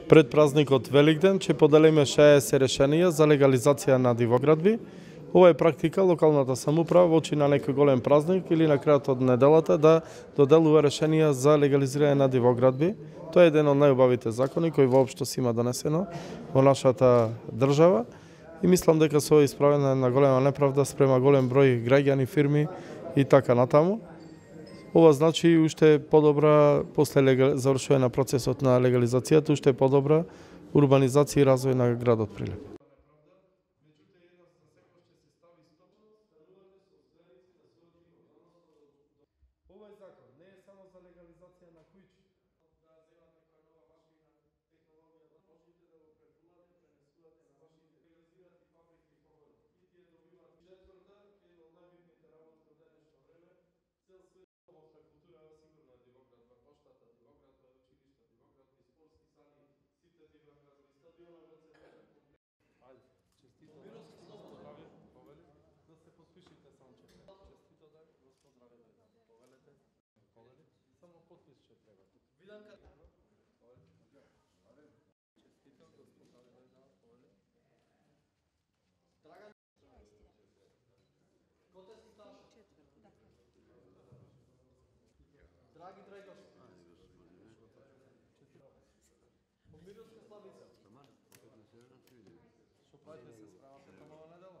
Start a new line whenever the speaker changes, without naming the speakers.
Пред празникот Великден ќе поделиме 60 решенија за легализација на дивоградби. Ова е практика локалната самоуправа во очи на некој голем празник или на крајот од неделата да доделува решенија за легализирање на дивоградби. Тоа е еден од најубавите закони кој воопшто се има донесено во нашата држава и мислам дека се исправена на голема неправда спрема голем број граѓани, фирми и така натаму. Ова значи уште подобра после завршување на процесот на легализацијата, уште подобра урбанизација и развој на градот Прилеп. Овој закон не е само за легализација на куќи. Да земате која нова машина, технологија, да можете да го префулате, пренесувате на вашите, легализирате фабрики и погони. И тие добиваат четврта, една од најбитните работи во денешно време, цел свет во култура сигурно е дивоградба, поштата, дивоградба, училишта, дивоградби, спортски сали, сите дивоградби, стадионот во целиот комплект. Ајде, честито да здравје, повели, да се подпишите само честито да здравје да повелете, повели, само подпис ќе треба. Виданка. Честито здравје да повели. Драган. Коте си сташ? Драги Драгош. Помирувате Славица. Што правите се справате на нова недела?